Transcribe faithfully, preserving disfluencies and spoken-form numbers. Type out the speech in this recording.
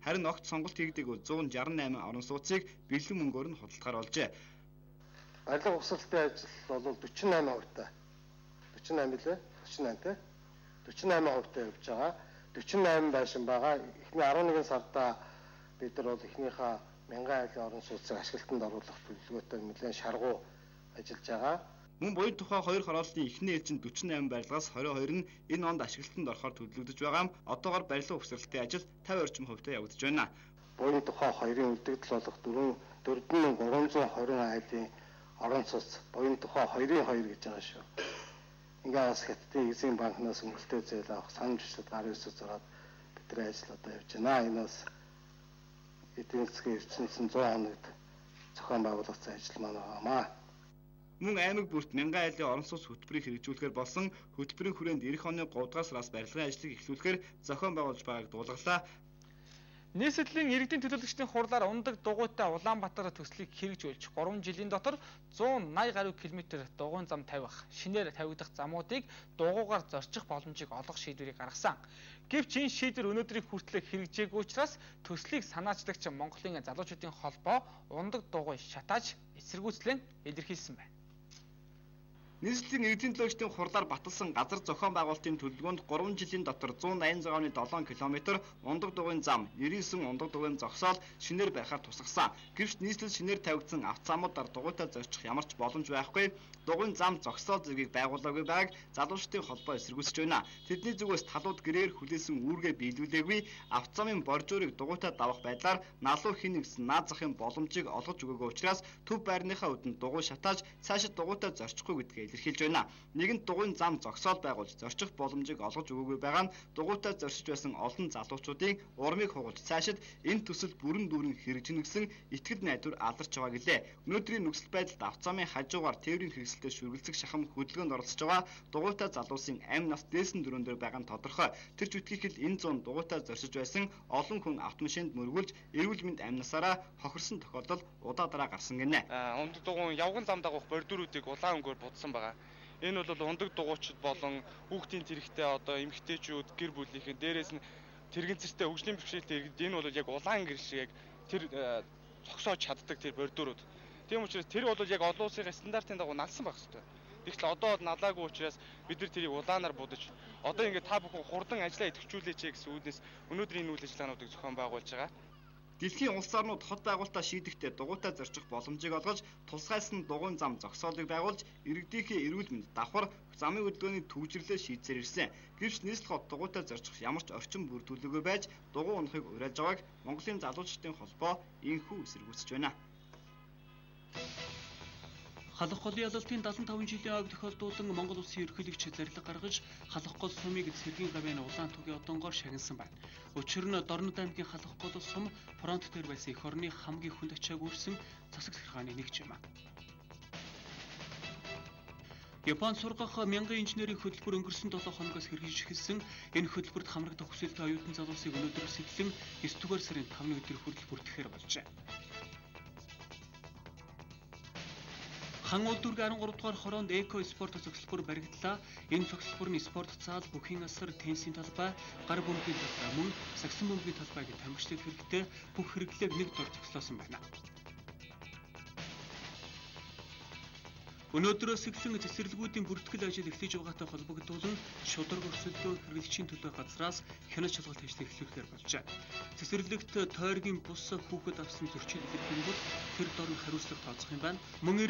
Харин огт сонголт хийгдээгүй зуун шарсан найман орон сууцыг бэлэн мөнгөөр нь худалдахаар болжээ. Барилга угсралтын ажил бол forty-eight хувьтай. forty-eight лээ. forty-eight тий. forty-eight хувьтай явж байгаа. forty-eight байшин байгаа. Эхний eleven сарда бид нар бол эхнийхээ мянган айлын орон сууцыг ашиглалтанд оруулах төлөвлөгөөтэй нэлээд шаргуу ажиллаж байгаа. Мөн буян тухай хоёр хорооллын эхний ээлжинд forty-eight барилгаас twenty-two нь энэ онд ашиглалтанд орохоор төлөвлөгдөж байгаа юм. Одоогоор барилга угсралтын ажил fifty орчим хувьтай явагдаж байна. Буян тухай хоёрын үлдэгдэл болох four four thousand three hundred twenty айлын орон сууц буян тухай two-ын two гэж байгаа шүү. Ингээ бас Хятадын эзэн банкнаас өнгөлтөө зээл авах санамж хүсэлт гарын үсэг зураад бидний ажил одоо явж байна. Энэ бас эдийн засгийн ертөнцийн one hundred хоногт зохион байгуулагдсан ажил маань байгаамаа. Мөн аймаг бүрт мянган айлын орон сууц хөтөлбөрийг хэрэгжүүлэхээр болсон хөтөлбөрийн хүрээнд эх оны three дугаар сараас барилгын ажлыг эхлүүлэхээр зохион байгуулж байгааг дуулгалаа. Нийслэлийн иргэдийн төлөөлөгчдийн хурлаар ундаг дугуйтай Улаанбаатар төслийг хэрэгжүүлж three жилийн дотор one eighty гаруй километр дугуйн зам тавих, шинээр тавигдах замуудыг дугуйгаар зорчих боломжийг олгох шийдвэрийг гаргасан. Гэвч энэ шийдвэр өнөөдрийг хүртэл хэрэгжээгүй учраас төслийг санаачлагч Монголын залуучуудын холбоо ундаг дугуй шатааж эсэргүүцлэн илэрхийлсэн байна. Нийслэлийн иргэдийн төлөөлөгчдийн хурлаар баталсан газар зохион байгуулалтын төлөвлөгөөнд three жилийн дотор one eighty seven километр ундаг дугуйн зам, ninety-nine ундаг дугуйн зогсоол шинээр барихаар тусгасан. Гэвч нийслэл шинээр тавигдсан автозамуудаар дугуйтай зорчих ямар ч боломж байхгүй. Дугуйн зам зогсоол зэргийг байгуулаагүй байгааг залуучдын холбоо эсэргүүцэж байна. Тэдний зүгээс талууд гэрээр хүлээсэн үүргээ биелүүлээгүй, автозамын боржуурыг дугуйтай давах байдлаар налуу хин нэгсэн наад захын боломжийг олгож өгөөгүй учраас төв байрныхаа үдэнд дугуй шатааж цаашид дугуйтай зорчихгүй гэдгийг илэрхийлж байна. Нэгэнт дугуйн зам зогсоол байгуулж зорчих боломжийг олгож өгөөгүй байгаа нь дугуйтай зорчиж байсан олон залуучуудын урмыг хугалж цаашид энэ төсөл бүрэн дүүрэн хэрэгжинэ гэсэн итгэл найдвар алдарч байгаа гэлээ. Өнөөдрийн нөхцөл байдалд автозамын хажуугаар тээврийн хэрэгсэлтэй шүргэлцэх шахам хөдөлгөөнд оролцож байгаа дугуйтай залуусын амь нас дээсэн дөрөөн дээр байгаа нь тодорхой. Тэр чүтгэл энэ зүүн дугуйтай зорчиж байсан олон хүн автомашинд мөргүүлж эрүүл мэнд амь насаараа хохирсон тохиолдол удаа дараа гарсан гинэ. Ундаг дугуйн явган зам дагуух бордюруудыг улаан өнгөөр будсан байгаа. Энэ бол ундаг дугуйчид болон хүүхдийн тэрэгтэй одоо эмэгтэйчүүд гэр бүлийнхэн дээрээс нь тэрэгцэртэй хөгжлийн бэрхшээлтэй иргэд энэ бол яг улаан гэр шиг яг тэр зогсоож чаддаг тэр бордюрууд. Тийм учраас тэр бол яг олон улсын стандартын дагуу налсан байх хэрэгтэй. Тэгвэл одоо налаагүй учраас бид нар тэрийг улаанаар будаж одоо ингээд та бүхэн хурдан ажиллаа идэвхжүүлээч гэсэн үүднээс өнөөдрийн энэ үйл ажиллагаануудыг зохион байгуулж байгаа. Дэлхийн улс орнууд хот байгуулалтаа шийдэхдээ дугуйтай зорчих боломжийг олгож, тусгайлсан дугуйн зам зогсоолыг байгуулж, иргэдийнхээ эрүүл мэнд давхар замын хөдөлгөөний төвчрлээ шийдсээр ирсэн. Гэвч нийслэл хот дугуйтай зорчих ямар ч орчин бүр төлөвлөгөө байж, дугуй унахыг уриалж байгааг Монголын залуучдын холбоо инхүү эсэргүүцэж байна. Халах голын ялалтын seventy-five жилийн аг тохиолдуулан Монгол улсын ерөнхийлөгч зарилга гаргаж халах гол сумыг цэргийн гавьяаны улаан түгийн одонгоор шагнасан байна. Учир нь Дорнод аймгийн халах гол сум фронт дээр байсан эх орны хамгийн хүнд ачааг үүрсэн засаг захиргааны нэг юм. Японд сургах мянган инженерийн хөтөлбөр өнгөрсөн seven хоногоос хэрэгжиж эхэлсэн энэ хөтөлбөрт хамрагдах хүсэлтэй оюутан залуусыг өнөөдөр сэтлэн nine дугаар сарын five өдөр хүртэл бүртгэхээр болжээ. Хан улдүрг thirty-three дугаар хороонд эко спорт цогцлбор баригдлаа. Энэ цогцлбор нь спорт заал, бүхийн асар, теннисийн талбай, гар бөмбөгийн талбай мөн сагсан бөмбөгийн талбайг тамирчлах хэрэгтэй бүх хэрэглээг нэг дор зохицуулсан байна. Өнөөдрөөс эхлэн цэцэрлэгүүдийн бүртгэл ажил эхлэж байгаатай холбогдуулан шударга өрсөлдөөн хэрэглэгчийн төлөө газраас хяналт шалгалт ажлыг эхлүүлэхээр болжээ. Цэцэрлэгт тойргийн бус хүүхэд авсан зөрчил илэрхийлбэл тэр дор нь хариуцлага тооцох юм байна. Мөн